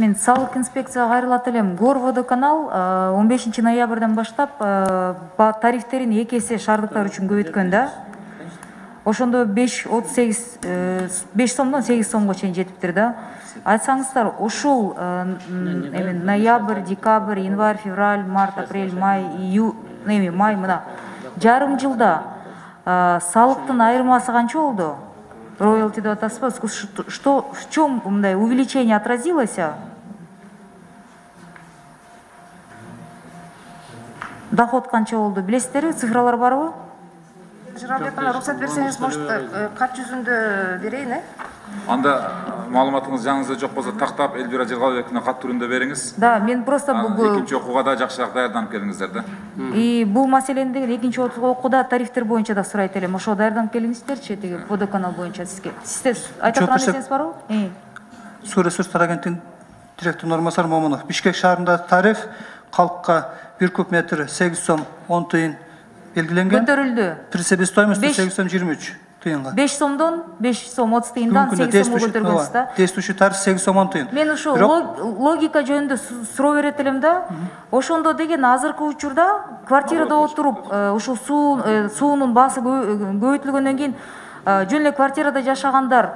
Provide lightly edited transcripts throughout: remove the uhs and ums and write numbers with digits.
Мен салык инспекцияга кайрылат элем. Горводоканал 15 ноябрдан баштап тарифтерин 2 эсе шаардыктар үчүн көбөйткөн да. Ошондо 5 сомдон 8 сомго чейин жетиптир да. Айтсаңыздар, ушул ноябрь, декабрь, январь, февраль, март, апрель, май, май мына жарым жылда салыктын айырмасы канча болду? Роялти деп атасызбы? Что, в чем мындай увеличение отразилось? Доход канча болду? Билесиздерби? Цифралар барбы? Жыралбек ана уруксат берсеңиз, может, кат жүзүндө берейин, Анда маалыматыңыз жаңыңызда жок болсо тактап Элвира Жергалбековна кат түрүндө бериңиз. Да, мен просто экинчи окууга да жакшыраак даярданып келиңиздер да. И бул маселени деген экинчи окууда тарифтер боюнча да сурайт элем. Ошо даярданып келиңиздерчи, теги водоканал боюнча сизге. Сиздер айта турган нерсеңиз барбы? Суу ресурстар агенттигинин директорунун орунбасары Момунов. Бишкек шаарында тариф калкка 1 куб метр 8 сом 10 тыйын белгиленген. Көтөрүлдү. При себестоимости 8 сом 23 тыйынга. 5 сомдон 5 сом 30 тыйындан 8 сомго көтөргөнсүз да. Действующий тариф 8 сом 10 тыйын. Мен ушу логика жөнүндө суроо берет элем да. Ошондо деген азыркы учурда квартирада отуруп ушул суунун баасы көбөйтүлгөндөн кийин жөн эле квартирада жашагандар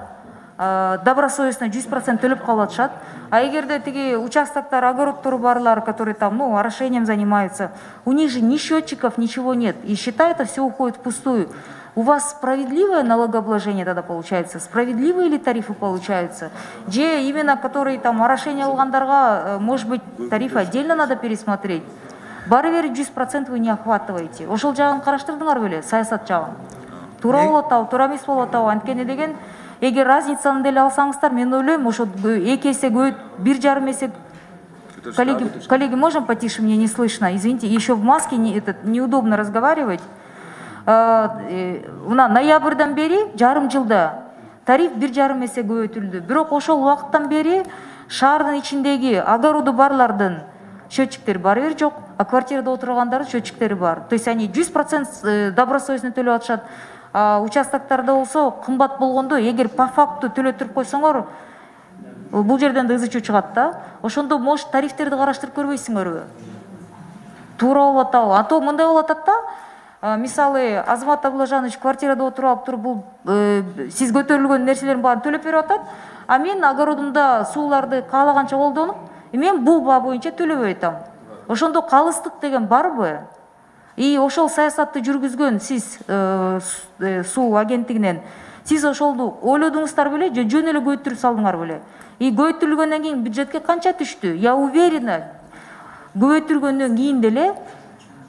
добросовестно 100% төлөп калып атышат. А эгерде тиги участоктор, огородтору барлар, которые там, орошением занимаются, у них же ни счетчиков, ничего нет. И счета это все уходит впустую. У вас справедливое налогообложение тогда получается? Справедливые ли тарифы получаются? Где именно, которые там орошение алгандарга, может быть, тарифы отдельно надо пересмотреть? Бары бери 100% вы не охватываете. Ошол жагын караштырдыңар беле, саясат жагын? Туура болуп атабы, туура эмес болуп атабы? Анткени деген эгер разницаны деле алсаңыздар, мен ойлойм, ошо 2 эсе көбөйт, 1,5 эсе. Коллеги, можно потише, мне не слышно? Извините, еще в маске неудобно разговаривать. Мына ноябрдан бери жарым жылда тариф 1,5 эсе көбөйтүлдү. Бирок ошол убакыттан бери шаардын ичиндеги огороду барлардын счетчиктери бары бир жок, а квартирада отургандардын счетчиктери бар. То есть они 100% добросовестно төлөп атышат. Участоктарда болсо кымбат болгондо, эгер по факту төлөтүрүп койсоңор, бул жерден да ызы чыгат да. Ошондо может тарифтерди караштырып көрбөйсүңөрбү? Туура болуп атабы? А то мындай болуп атат да. Мисалы, Азамат Абылажанович квартирада отуруп алып туруп, бул сиз көтөрүлгөн нерселердин баарын төлөп берип атат, а мен огородумда сууларды каалаганча колдонуп, мен бул баа боюнча төлөбөй атам. Ошондо калыстык деген барбы? И ошол саясатты жүргүзгөн сиз суу агенттигинен, сиз ошолду ойлодуңуздар беле, же жөн эле көбөйтүрүп салдыңар беле? И көбөйтүлгөндөн кийин бюджетке канча түштү? Я уверена, көбөйтүлгөндөн кийин деле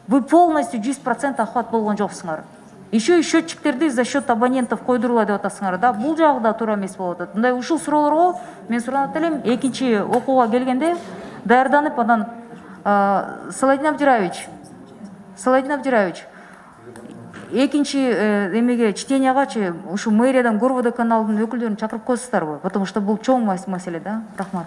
вы полностью 100% охват болгон жоксуңар. Еще и счетчиктерди за счет абонентов койдурулат деп атасыңар да. Бул жагы да туура эмес болуп атат. Мындай ушул суроолорго мен суранат элем, экинчи окууга келгенде даярданып, анан Саладин Абдираевич, экинчи эмеге чтениягачы ушу мэриядан Горводоканалдын өкүлдөрүн чакырып коесуздарбы? Потому что бул чоң маселе да. Рахмат.